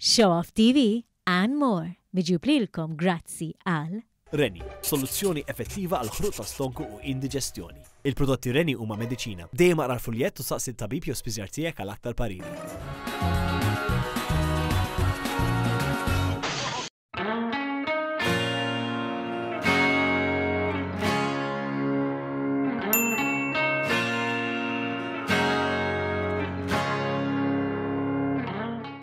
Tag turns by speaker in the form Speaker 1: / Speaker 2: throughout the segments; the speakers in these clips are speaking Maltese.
Speaker 1: Show Off TV and more miġjub lilkom grazzi għal.
Speaker 2: Rennie, soluzzjoni effettiva għal ħruq ta' stonku u indiġestjoni. Il-prodotti Rennie huma mediċina. Dejjem aqra l-fuljett u saqsi t-tabib jew spiżjar tiegħek għal aktar pariri.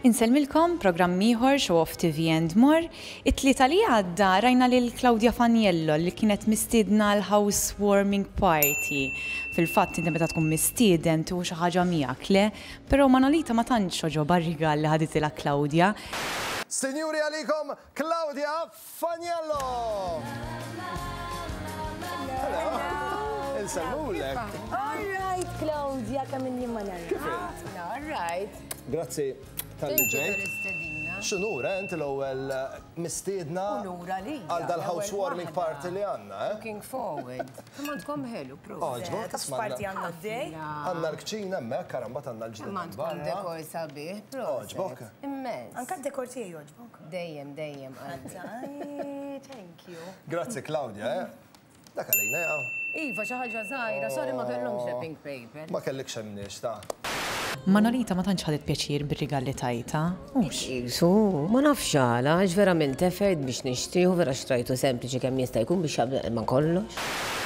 Speaker 3: Insellmilkom programm ieħor Show Off TV and More. It-tlieta li għadda rajna lil Claudia Faniello li kienet mistiedna l housewarming party. Fil-fatt inti meta tkun mistieden tieħu xi ħaġa miegħek, le? Però Manolita ma tantx għoġobha r-rigal li ħaditilha Claudia.
Speaker 4: Sinjuri għalikom Claudia Faniello! Hello! Insellmulek.
Speaker 5: All right, Claudia, kemm inni ma nara.
Speaker 4: Kif int?
Speaker 5: All right.
Speaker 4: Grazzi talli ġejt. X'unur, eh, inti l-ewwel mistiedna
Speaker 5: Unur għalija.
Speaker 4: għal dal-housewarming
Speaker 5: L-ewwel
Speaker 4: party li għandna, eh?
Speaker 5: Looking forward. Kemm għandkom ħelu, proset.
Speaker 4: Għoġbok,
Speaker 6: Taf x'parti għandna għaddej?
Speaker 4: Għandna l-kċina hemmhekk, ara mbagħad għandna l-ġnien
Speaker 5: Kemm għandkom
Speaker 4: barra.
Speaker 5: dekor sabiħ, proset.
Speaker 4: Għoġbok?
Speaker 5: Immens.
Speaker 6: Anka d-dekor tiegħi jogħġbok.
Speaker 5: Dejjem, dejjem qalbi.
Speaker 6: Ay, Thank you.
Speaker 4: Grazzi Claudia, eh? Dak għalina jaqa'.
Speaker 5: Iva, xi ħaġa żgħira, sorry ma kellhomx wrapping paper.
Speaker 4: Ma kellikx hemmniex ta.
Speaker 3: Manolita ma tantx ħadet pjaċir bir-rigal li tajtha, hux?
Speaker 5: Qisu, ma nafx għala, għax vera għamilt effort biex nixtrih u vera xtrajtu sempliċi kemm jista' jkun biex jaqbel ma' kollox.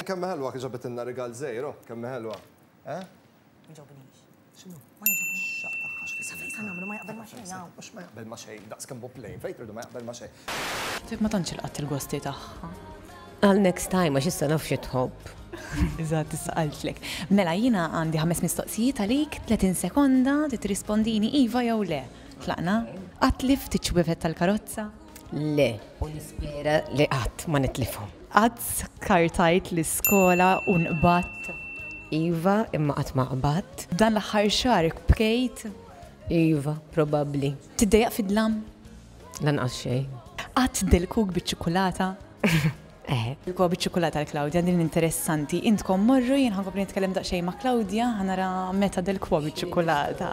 Speaker 4: Kemm hi ħelwa kif ġabitilna rigal żgħir, oh, kemm hi ħelwa. Eh?
Speaker 6: Ma jogħġobnix.
Speaker 4: X'inhu?
Speaker 6: Ma jogħġobnix.
Speaker 4: X'tagħha
Speaker 6: Sa fejn sa nagħmlu ma jaqbel ma xejn hawn.
Speaker 4: Mhux ma jaqbel ma xejn, daqs kemm hu plain, fejn tridu ma jaqbel ma xejn.
Speaker 3: Dik ma tantx ilqatt il-gosti tagħha.
Speaker 5: Għal next time għax issa naf xi tħobb.
Speaker 3: Eżatt, issa qaltlek. Mela jiena għandi ħames mistoqsijiet għalik, 30 sekonda, trid tirrispondini iva jew le. Tlaqna? Qatt tlift iċ-ċwievet tal-karozza?
Speaker 5: Le, u nispera li qatt ma nitlifhom.
Speaker 3: Qatt skartajt l-iskola u nqbadt?
Speaker 5: Iva, imma qatt ma qbadt.
Speaker 3: Dan l-aħħar xahar bkejt?
Speaker 5: Iva, probabbli.
Speaker 3: Tiddejjaq fid-dlam?
Speaker 5: Lanqas xejn.
Speaker 3: Qatt dilkuk biċ-ċikkulata?
Speaker 5: Eħe.
Speaker 3: Dilkuha biċ-ċikkulata għal Claudia, din interessanti. Intkom morru, jien ħa nkompli nitkellem daqsxejn ma' Claudia, ħa nara meta dilkuha biċ-ċikkulata.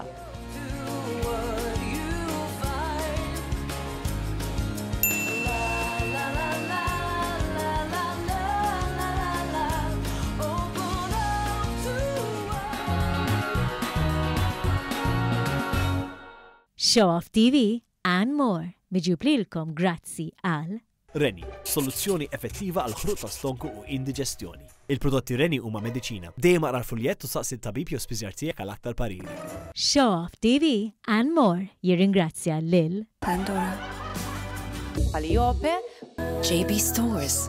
Speaker 1: Show Off TV and more miġjub lilkom grazzi għal.
Speaker 2: Rennie, soluzzjoni effettiva għal ħruq ta' stonku u indiġestjoni. Il-prodotti Rennie huma mediċina. Dejjem aqra l-fuljett u saqsi t-tabib jew spiżjar tiegħek għal aktar pariri.
Speaker 1: Show Off TV and more jirringrazzja lil.
Speaker 7: Pandora.
Speaker 3: Calliope.
Speaker 7: JB Stores.